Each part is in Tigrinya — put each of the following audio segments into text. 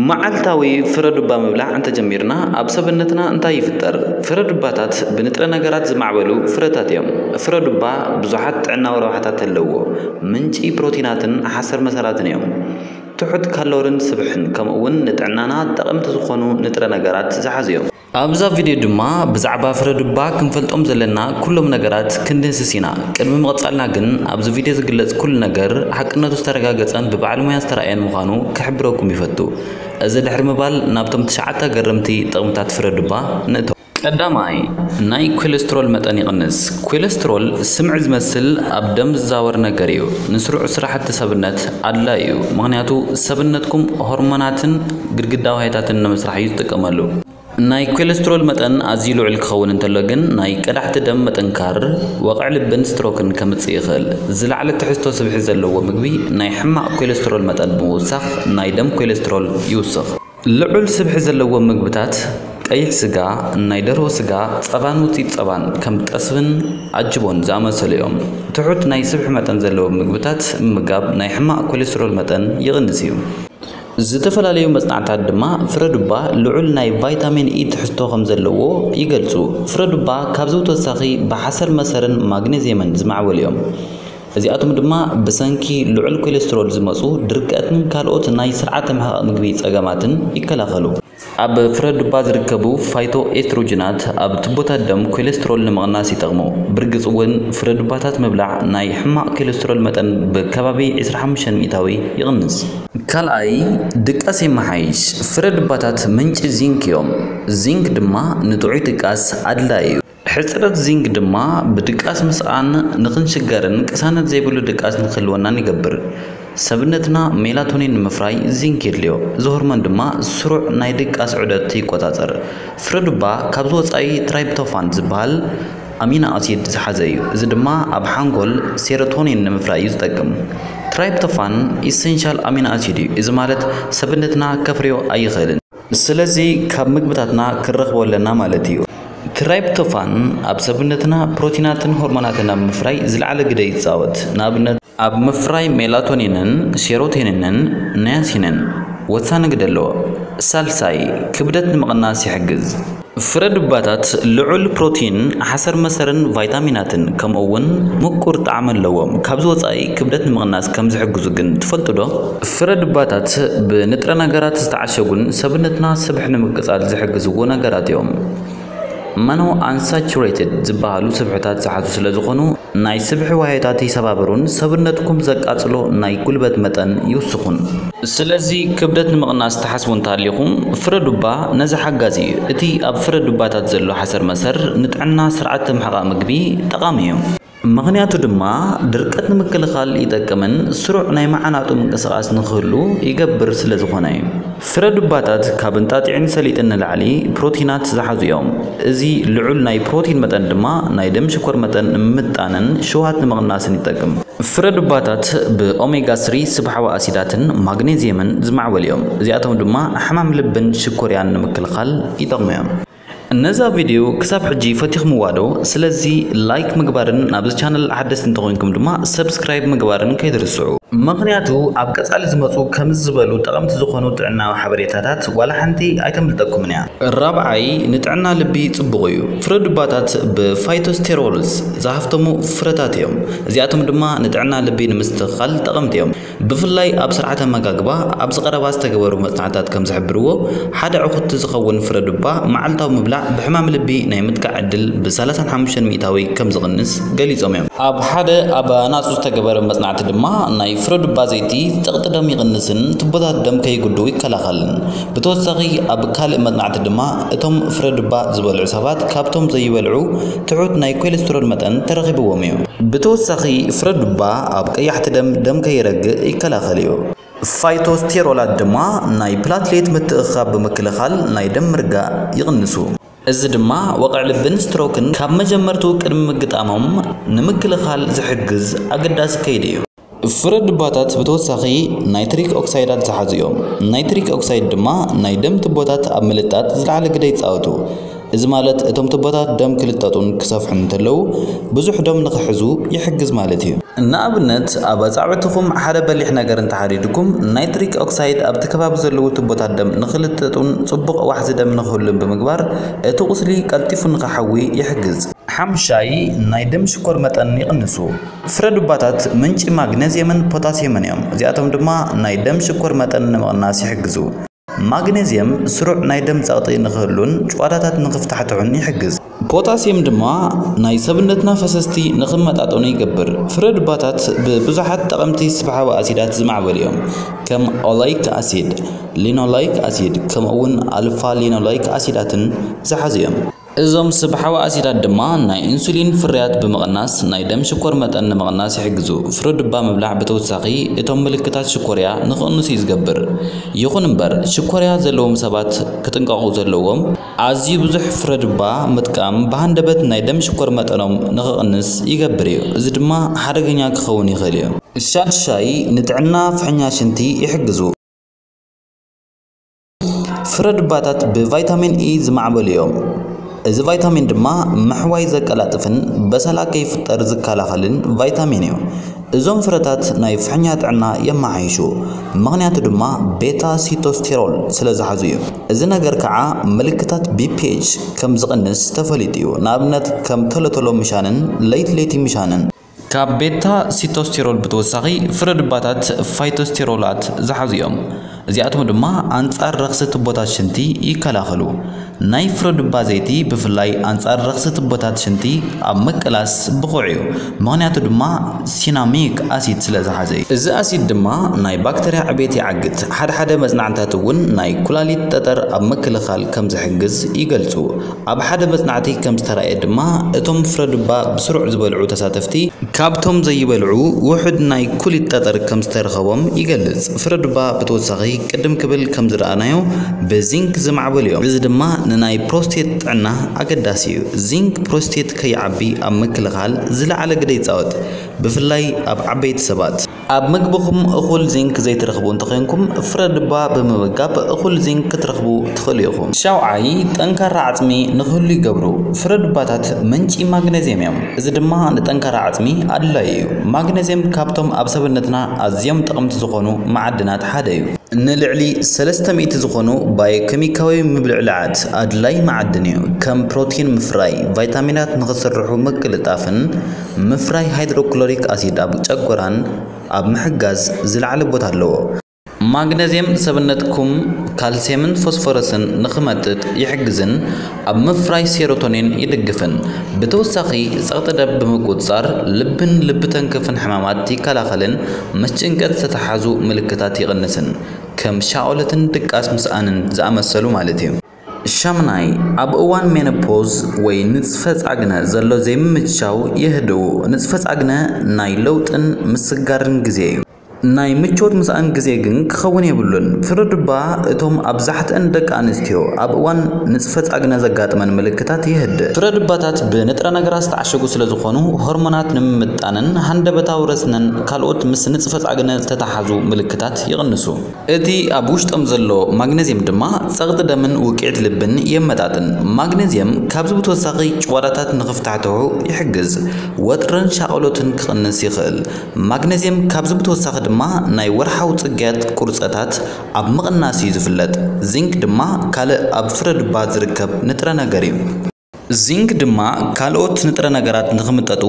መዓልታዊ ፍረ ዱባ ምብላዕ እንተጀሚርና፣ ኣብ ሰብነትና እንታይ ይፍጠር? ፍረ ዱባታት ብንጥረ ነገራት ዝማዕበሉ ፍረታት እዮም። ፍረ ዱባ ብዙሓት ጥዕናዊ ረብሓታት ኣለዎ። ምንጪ ፕሮቲናትን ሓሰር መሰራትን እዮም። ትሑት ካሎሪን ስብሕን፣ ከምኡ እውን ንጥዕናና ጠቐምቲ ዝኾኑ ንጥረ ነገራት ዝሓዙ እዮም። ኣብዛ ቪድዮ ድማ ብዛዕባ ፍረ ዱባ ክንፈልጦም ዘለና ኩሎም ነገራት ክንድህስስ ኢና። ቅድሚ ምቕጻልና ግን፣ ኣብዚ ቪድዮ ዝግለጽ ኩሉ ነገር ሓቅነቱ ዝተረጋገጸን ብባዕልሙያ ዝተራእየን ምዃኑ ክሕብረኩም ይፈቱ። እዚ ድሕሪ ምባል፣ ናብቶም ትሽዓተ ኣገረምቲ ጥቕምታት ፍረ ዱባ ንእቶ። ቀዳማይ፣ ናይ ኮሌስትሮል መጠን ይቕንስ። ኮሌስትሮል ስምዒ ዝመስል ኣብ ደም ዝዛወር ነገር እዩ። ንስሩዕ ስራሕቲ ሰብነት ኣድላዪ እዩ፣ ምኽንያቱ ሰብነትኩም ሆርሞናትን ግድግዳ ዋህዮታትን ንምስራሕ እዩ ዝጥቀመሉ። ናይ ኮሌስትሮል መጠን ኣዝዩ ልዑል ክኸውን እንተሎ ግን፣ ናይ ቀዳሕቲ ደም ምጥንካር፣ ወቕዒ ልብን ስትሮክን ከምጽእ ይኽእል። ዝለዓለ ትሕዝቶ ስብሒ ዘለዎ ምግቢ ናይ ሕማቕ ኮሌስትሮል መጠን ብምውሳኽ፣ ናይ ደም ኮሌስትሮል ይውስኽ። ልዑል ስብሒ ዘለዎም ምግብታት፣ ቀይሕ ስጋ፣ ናይ ደርሆ ስጋ፣ ጸባን ውጽኢት ጸባን ከም ጠስብን ኣጅቦን ዝኣመሰሉ እዮም። ትሑት ናይ ስብሒ መጠን ዘለዎም ምግብታት ምምጋብ ናይ ሕማቕ ኮሌስትሮል መጠን ይቕንስ እዩ። ዝተፈላለዩ መጽናዕታት ድማ ፍረ ዱባ ልዑል ናይ ቫይታሚን ኢ ትሕዝቶ ከም ዘለዎ ይገልጹ። ፍረ ዱባ ካብዚ ብተወሳኺ ብሓሰር መሰርን ማግኔዝየምን ዝማዕበሉ እዮም። እዚኣቶም ድማ ብሰንኪ ልዑል ኮሌስትሮል ዝመጹ ድርቀትን ካልኦት ናይ ስርዓተ ምሕቓቕ ምግቢ ጸገማትን ይከላኸሉ። ኣብ ፍረ ዱባ ዝርከቡ ፋይቶ ኤስትሮጅናት ኣብ ቱቦታት ደም ኮሌስትሮል ንምቕናስ ይጠቕሙ። ብርግጽ እውን ፍረ ዱባታት ምብላዕ ናይ ሕማቕ ኮሌስትሮል መጠን ብከባቢ ዕስራ ሓሙሽተ ሚእታዊ ይቕንስ። ካልኣይ፣ ድቃስ የመሓይሽ። ፍረ ዱባታት ምንጪ ዚንክ እዮም። ዚንክ ድማ ንጥዑይ ድቃስ ኣድላዪ እዩ። ሕጽረት ዚንክ ድማ ብድቃስ ምስኣን ንኽንሽገርን ቅሳነት ዘይብሉ ድቃስ ንኽህልወናን ይገብር። ሰብነትና ሜላቶኒን ንምፍራይ ዚንክ የድልዮ። እዚ ሆርሞን ድማ ስሩዕ ናይ ድቃስ ዑደት ይቆጻጸር። ፍረ ዱባ ካብዚ ወጻኢ ትራይፕቶፋን ዝበሃል ኣሚኖ ኣሲድ ዝሓዘ እዩ። እዚ ድማ ኣብ ሓንጎል ሴሮቶኒን ንምፍራይ እዩ ዝጠቅም። ትራይፕቶፋን ኢሰንሻል ኣሚኖ ኣሲድ እዩ። እዚ ማለት ሰብነትና ከፍርዮ ኣይኽእልን። ስለዚ ካብ ምግብታትና ክንረኽቦ ኣለና ማለት እዩ። ትራይፕቶፋን ኣብ ሰብነትና ፕሮቲናትን ሆርሞናትን ኣብ ምፍራይ ዝለዓለ ግደ ይጻወት። ንኣብነት፣ ኣብ ምፍራይ ሜላቶኒንን ሴሮቶኒንን ናያሲንን ወሳኒ ግደ ኣለዎ። ሳልሳይ፣ ክብደት ንምቕናስ ይሕግዝ። ፍረ ዱባታት ልዑል ፕሮቲን፣ ሓሰር መሰርን ቫይታሚናትን፣ ከምኡ እውን ምቁር ጣዕሚ ኣለዎም። ካብዚ ወጻኢ ክብደት ንምቕናስ ከም ዝሕግዙ ግን ትፈልጡ ዶ? ፍረ ዱባታት ብንጥረ ነገራት ዝተዓሸጉን ሰብነትና ስብሒ ንምቅጻል ዝሕግዝዎ ነገራት እዮም። መኖ ኣንሳቹሬትድ ዝበሃሉ ስብሕታት ዝሓዙ ስለ ዝኾኑ፣ ናይ ስብሒ ዋህዮታት ይሰባብሩን ሰብነትኩም ዘቃጽሎ ናይ ጉልበት መጠን ይውስኹን። ስለዚ ክብደት ንምቕናስ ትሓስቡ እንተሃሊኹም፣ ፍረ ዱባ ነዚ ሓጋዚ እዩ። እቲ ኣብ ፍረ ዱባታት ዘሎ ሓሰር መሰር ንጥዕና ስርዓተ ምሕቓቕ ምግቢ ጠቓሚ እዩ። ምኽንያቱ ድማ ድርቀት ንምክልኻል ይጠቅምን ስሩዕ ናይ መዓናጡ ምንቅስቓስ ንኽህሉ ይገብር ስለ ዝኾነ እዩ። ፍረ ዱባታት ካብ እንጣጢዕን ሰሊጥን ንላዕሊ ፕሮቲናት ዝሓዙ እዮም። እዚ ልዑል ናይ ፕሮቲን መጠን ድማ ናይ ደም ሽኮር መጠን ንምምጣንን ሽውሃት ንምቕናስን ይጠቅም። ፍረ ዱባታት ብኦሜጋ ስሪ ስብሓዊ ኣሲዳትን ማግኔዝየምን ዝማዕበሉ እዮም። እዚኣቶም ድማ ሕማም ልብን ሽኮርያን ንምክልኻል ይጠቕሙ እዮም። ነዛ ቪድዮ ክሳብ ሕጂ ፈቲኹምዋ ዶ? ስለዚ ላይክ ምግባርን ናብዚ ቻነል ሓደስቲ እንተኾይንኩም ድማ ሰብስክራይብ ምግባርን ከይትርስዑ። ምኽንያቱ ኣብ ቀጻሊ ዝመጹ ከምዚ ዝበሉ ጠቐምቲ ዝኾኑ ጥዕናዊ ሓበሬታታት ዋላ ሓንቲ ኣይተምልጠኩምን እያ። ራብዓይ፣ ንጥዕና ልቢ ጽቡቕ እዩ። ፍረ ዱባታት ብፋይቶስቴሮልስ ዝሃፍተሙ ፍረታት እዮም። እዚኣቶም ድማ ንጥዕና ልቢ ንምስትኽኻል ጠቐምቲ እዮም። ብፍላይ ኣብ ስርዓተ ኣመጋግባ፣ ኣብዚ ቀረባ ዝተገበሩ መጽናዕትታት ከም ዝሕብርዎ፣ ሓደ ዕኹቲ ዝኸውን ፍረ ዱባ መዓልታዊ ምብላዕ ብሕማም ልቢ ናይ ምጥቃዕ ዕድል ብ ሰላሳን ሓሙሽተን ሚእታዊ ከም ዝቕንስ ገሊጾም እዮም። ኣብ ሓደ ኣብ ኣናጹ ዝተገበረ መጽናዕቲ ድማ፣ ናይ ፍረ ዱባ ዘይቲ ጸቕጢ ደም ይቕንስን ቱቦታት ደም ከይጉድኡ ይከላኸልን። ብተወሳኺ፣ ኣብ ካልእ መጽናዕቲ ድማ፣ እቶም ፍረ ዱባ ዝበልዑ ሰባት ካብቶም ዘይበልዑ ትሑት ናይ ኮሌስትሮል መጠን ተረኺብዎም እዩ። ብተወሳኺ፣ ፍረ ዱባ ኣብ ቀያሕቲ ደም ደም ከይረግእ ይከላኸል እዩ። ፋይቶስቴሮላት ድማ ናይ ፕላትሌት ምትእኽኻብ ብምክልኻል ናይ ደም ምርጋእ ይቕንሱ። እዚ ድማ ወቕዒ ልብን ስትሮክን ካብ መጀመርትኡ ቅድሚ ምግጣሞም ንምክልኻል ዝሕግዝ ኣገዳሲ ከይዲ እዩ። ፍረ ዱባታት ብተወሳኺ ናይትሪክ ኦክሳይዳት ዝሓዙ እዮም። ናይትሪክ ኦክሳይድ ድማ ናይ ደም ቱቦታት ኣብ ምልጣጥ ዝለዓለ ግደ ይጻወቱ። እዚ ማለት እቶም ቱቦታት ደም ክልጠጡን ክሰፍሑን እንተለዉ ብዙሕ ደም ንኽሕዙ ይሕግዝ ማለት እዩ። ንኣብነት ኣብ ኣጻብዕትኹም ሓደ በሊሕ ነገር እንተሓዲድኩም ናይትሪክ ኦክሳይድ ኣብቲ ከባቢ ዘለዉ ቱቦታት ደም ንኽልጠጡን ጽቡቕ ዋሕዚ ደም ንኽህሉን ብምግባር እቲ ቁስሊ ቀልጢፉ ንኽሓዊ ይሕግዝ። ሓምሻይ ናይ ደም ሽኮር መጠን ይቕንሱ። ፍረ ዱባታት ምንጪ ማግነዝየምን ፖታስየምን እዮም። እዚኣቶም ድማ ናይ ደም ሽኮር መጠን ንምቕናስ ይሕግዙ። ማግነዝየም ስሩዕ ናይ ደም ጸቕጢ ንኽህሉን ጭዋዳታት ንኽፍታሕትሑን ይሕግዝ። ፖታስየም ድማ ናይ ሰብነትና ፈሰስቲ ንኽመጣጠኑ ይገብር። ፍረ ዱባታት ብብዙሓት ጠቐምቲ ስብሓዊ ኣሲዳት ዝማዕበሉ እዮም። ከም ኦላይክ ኣሲድ፣ ሊኖላይክ ኣሲድ፣ ከምኡ እውን ኣልፋ ሊኖላይክ ኣሲዳትን ዝሓዙ እዮም። እዞም ስብሓዊ ኣሲዳት ድማ ናይ ኢንሱሊን ፍርያት ብምቕናስ ናይ ደም ሽኮር መጠን ንምቕናስ ይሕግዙ። ፍረ ዱባ ምብላዕ ብተወሳኺ እቶም ምልክታት ሽኮርያ ንኽቕንሱ እዩ ዝገብር። ይኹን እምበር ሽኮርያ ዘለዎም ሰባት ክጥንቀቑ ዘለዎም፣ ኣዝዩ ብዙሕ ፍረ ዱባ ምጥቃም ብሃንደበት ናይ ደም ሽኮር መጠኖም ንኽቕንስ ይገብር እዩ። እዚ ድማ ሓደገኛ ክኸውን ይኽእል እዩ። ሻድሻይ ንጥዕና ፍሕኛ ሽንቲ ይሕግዙ። ፍረ ዱባታት ብቫይታሚን ኢ ዝማዕበሉ እዮም። እዚ ቫይታሚን ድማ ምሕዋይ ዘቀላጥፍን በሰላ ከይፍጠር ዝከላኸልን ቫይታሚን እዩ። እዞም ፍረታት ናይ ፍሕኛ ጥዕና የመሓይሹ፣ ምኽንያቱ ድማ ቤታ ሲቶስቴሮል ስለ ዝሓዙ እዩ። እዚ ነገር ከዓ ምልክታት ቢፒኤች ከም ዝቕንስ ተፈሊጡ እዩ። ንኣብነት ከም ቶሎቶሎ ምሻንን ለይቲ ለይቲ ምሻንን። ካብ ቤታ ሲቶስቴሮል ብተወሳኺ ፍረ ዱባታት ፋይቶስቴሮላት ዝሓዙ እዮም። እዚኣቶም ድማ ኣንጻር ረኽሲ ቱቦታት ሽንቲ ይከላኸሉ። ናይ ፍረ ዱባ ዘይቲ ብፍላይ ኣንጻር ረኽሲ ቱቦታት ሽንቲ ኣብ ምቅላስ ብቑዕ እዩ። ምኽንያቱ ድማ ሲናሚክ ኣሲድ ስለ ዝሓዘ እዩ። እዚ ኣሲድ ድማ ናይ ባክተርያ ዕቤት ይዓግት። ሓደ ሓደ መጽናዕትታት እውን ናይ ኩላሊት ጠጠር ኣብ ምክልኻል ከም ዝሕግዝ ይገልጹ። ኣብ ሓደ መጽናዕቲ ከም ዝተራእየ ድማ እቶም ፍረ ዱባ ብስሩዕ ዝበልዑ ተሳተፍቲ ካብቶም ዘይበልዑ ውሑድ ናይ ኩሊት ጠጠር ከም ዝተረኸቦም ይገልጽ። ፍረ ዱባ ብተወሳኺ ቅድም ክብል ከም ዝረኣናዮ ብዚንክ ዝማዕበሉ እዮም። እዚ ድማ ንናይ ፕሮስቴት ጥዕና ኣገዳሲ እዩ። ዚንክ ፕሮስቴት ከይዓቢ ኣብ ምክልኻል ዝለዓለ ግደ ይጻወት፣ ብፍላይ ኣብ ዓበይቲ ሰባት። ኣብ ምግብኹም እኹል ዚንክ ዘይትረኽቡ እንተኾይንኩም ፍረ ዱባ ብምምጋብ እኹል ዚንክ ክትረኽቡ ትኽእሉ ኢኹም። ሻውዓይ ጠንካራ ዓጽሚ ንክህሉ ይገብሩ። ፍረ ዱባታት ምንጪ ማግነዝየም እዮም። እዚ ድማ ንጠንካራ ዓጽሚ ኣድላዪ እዩ። ማግነዝየም ካብቶም ኣብ ሰብነትና ኣዝዮም ጠቕምቲ ዝኾኑ መዓድናት ሓደ እዩ። ንልዕሊ ሰለስተ ሚእቲ ዝኾኑ ባዮኬሚካዊ ምብልዕላዓት ኣድላይ መዓድን እዩ። ከም ፕሮቲን ምፍራይ፣ ቫይታሚናት ንኽስርሑ ምቅልጣፍን ምፍራይ ሃይድሮክሎሪክ ኣሲድ ኣብ ጨጎራን ኣብ ምሕጋዝ ዝለዓለ ቦታ ኣለዎ። ማግነዝየም ሰብነትኩም ካልስየምን ፎስፎረስን ንኽመጥጥ ይሕግዝን ኣብ ምፍራይ ሴሮቶኒን ይድግፍን። ብተወሳኺ ጸቕጢ ደም ብምቁጽጻር ልብን ልቢ ተንከፍን ሕማማት ይከላኸልን ምስ ጭንቀት ዝተተሓዙ ምልክታት ይቕንስን። ከም ሻኦለትን ድቃስ ምስኣንን ዝኣመሰሉ ማለት እዩ። ሻምናይ ኣብ እዋን ሜኖፖዝ ወይ ንጽፈ ጻግነ ዘሎ ዘይምምቻው የህድኡ። ንጽፈ ጻግነ ናይ ለውጥን ምስጋርን ግዜ እዩ። ናይ ምቾት ምስኣን ግዜ ግን ክኸውን የብሉን። ፍረ ዱባ እቶም ኣብዛሕትአን ደቂ ኣንስትዮ ኣብ እዋን ንጽፈ ጻግነ ዘጋጥመን ምልክታት የህድእ። ፍረ ዱባታት ብንጥረ ነገራት ዝተዓሸጉ ስለ ዝኾኑ ሆርሞናት ንምምጣንን ሃንደበታዊ ረስነን ካልኦት ምስ ንጽፈ ጻግነ ዝተተሓዙ ምልክታት ይቕንሱ። እቲ ኣብ ውሽጦም ዘሎ ማግነዝየም ድማ ጸቕጢ ደምን ውቅዒት ልብን የመጣጥን። ማግነዝየም ካብዚ ብተወሳኺ ጭዋዳታት ንኽፍታሕትሑ ይሕግዝ፣ ወጥርን ሻቕሎትን ክቕንስ ይኽእል። ማግነዝየም ካብዚ ብተወሳኺ ድማ ናይ ወርሓዊ ጽግያት ቁርጸታት ኣብ ምቕናስ እዩ ዝፍለጥ። ዚንክ ድማ ካልእ ኣብ ፍረ ዱባ ዝርከብ ንጥረ ነገር እዩ። ዚንክ ድማ ካልኦት ንጥረ ነገራት ንኽምጠጡ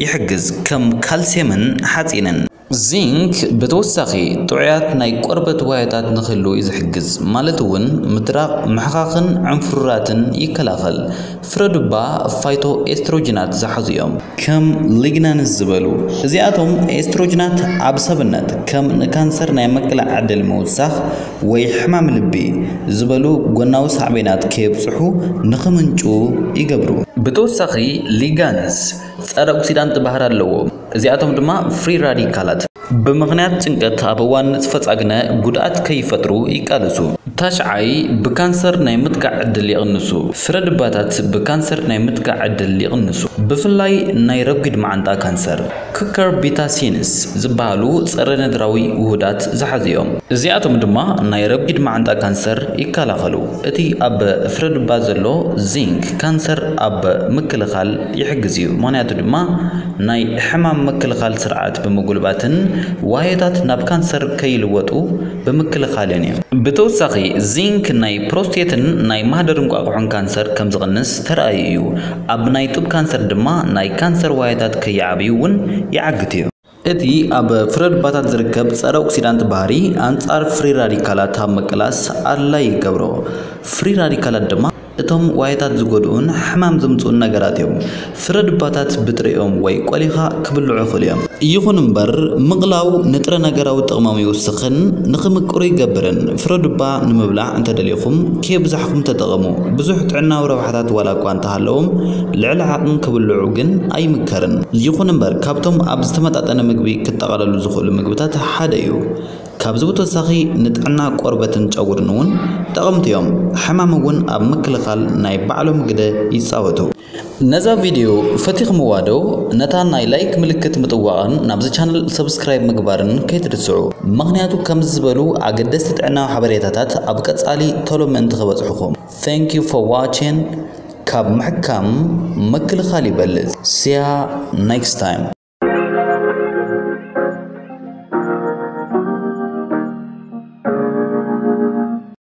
ይሕግዝ፣ ከም ካልስየምን ሓጺንን። ዚንክ ብተወሳኺ ጥዑያት ናይ ቆርበት ዋህዮታት ንክህልዉ እዩ ዝሕግዝ፣ ማለት እውን ምድራቕ፣ ምሕኻኽን ዕንፍሩራትን ይከላኸል። ፍረ ዱባ ፋይቶ ኤስትሮጅናት ዝሓዙ እዮም፣ ከም ሊግናንስ ዝበሉ። እዚኣቶም ኤስትሮጅናት ኣብ ሰብነት ከም ንካንሰር ናይ ምቅላዕ ዕድል ምውሳኽ ወይ ሕማም ልቢ ዝበሉ ጎናዊ ሳዕቤናት ከየብጽሑ ንኽምንጩ ይገብሩ። ብተወሳኺ ሊጋንስ ጸረ ኦክሲዳንት ባህሪ ኣለዎ። እዚኣቶም ድማ ፍሪ ራዲካላት ብምኽንያት ጭንቀት ኣብ እዋን ንጥፈ ጻግነ ጉድኣት ከይፈጥሩ ይቃለሱ። ታሽዓይ፣ ብካንሰር ናይ ምጥቃዕ ዕድል ይቕንሱ። ፍረ ድባታት ብካንሰር ናይ ምጥቃዕ ዕድል ይቕንሱ። ብፍላይ ናይ ረጒድ መዓንጣ ካንሰር። ኩከርቢታሲንስ ዝበሃሉ ጸረ ነድራዊ ውሁዳት ዝሓዙ እዮም። እዚኣቶም ድማ ናይ ረጒድ መዓንጣ ካንሰር ይከላኸሉ። እቲ ኣብ ፍረ ድባ ዘሎ ዚንክ ካንሰር ኣብ ምክልኻል ይሕግዝ እዩ። ምኽንያቱ ድማ ናይ ሕማም ምክልኻል ስርዓት ብምጉልባትን ዋህዮታት ናብ ካንሰር ከይልወጡ ብምክልኻልን እዩ። ብተወሳኺ ዚንክ ናይ ፕሮስቴትን ናይ ማህደር እንቋቑሖን ካንሰር ከም ዝቕንስ ተራእዩ እዩ። ኣብ ናይ ጡብ ካንሰር ድማ ናይ ካንሰር ዋህዮታት ከይዓብዩ እውን ይዓግት እዩ። እቲ ኣብ ፍረ ድባታት ዝርከብ ጸረ ኦክሲዳንት ባህሪ ኣንጻር ፍሪ ራዲካላት ኣብ ምቅላስ ኣድላይ ይገብሮ። ፍሪ ራዲካላት ድማ እቶም ዋህዮታት ዝጎድኡን ሕማም ዘምጽኡን ነገራት እዮም። ፍረ ድባታት ብጥሪኦም ወይ ቆሊኻ ክብልዑ ይኽእሉ እዮም። ይኹን እምበር ምቕላው ንጥረ ነገራዊ ጥቕሞም ይውስኽን ንኽምቅሩ ይገብርን። ፍረ ድባ ንምብላዕ እንተደሊኹም ከየብዛሕኩም ተጠቐሙ። ብዙሕ ጥዕናዊ ረብሓታት ዋላ እኳ እንተሃለዎም ልዕሊ ዓቕን ክብልዑ ግን ኣይምከርን። ይኹን እምበር ካብቶም ኣብ ዝተመጣጠነ ምግቢ ክጠቓለሉ ዝኽእሉ ምግብታት ሓደ እዩ። ካብዚ ብተወሳኺ ንጥዕና ቆርበትን ጨጉርን እውን ጠቐምቲ እዮም። ሕማም እውን ኣብ ምክልኻል ናይ ባዕሎም ግደ ይጻወቱ። ነዛ ቪድዮ ፈቲኽምዋ ዶ? ነታ ናይ ላይክ ምልክት ምጥዋቕን ናብዚ ቻነል ሰብስክራይብ ምግባርን ከይትርስዑ። ምኽንያቱ ከምዚ ዝበሉ ኣገደስቲ ጥዕናዊ ሓበሬታታት ኣብ ቀጻሊ ቶሎ ምእንቲ ክበጽሑኹም። Thank you for watching። ካብ ምሕካም ምክልኻል ይበልጽ። See ya next time።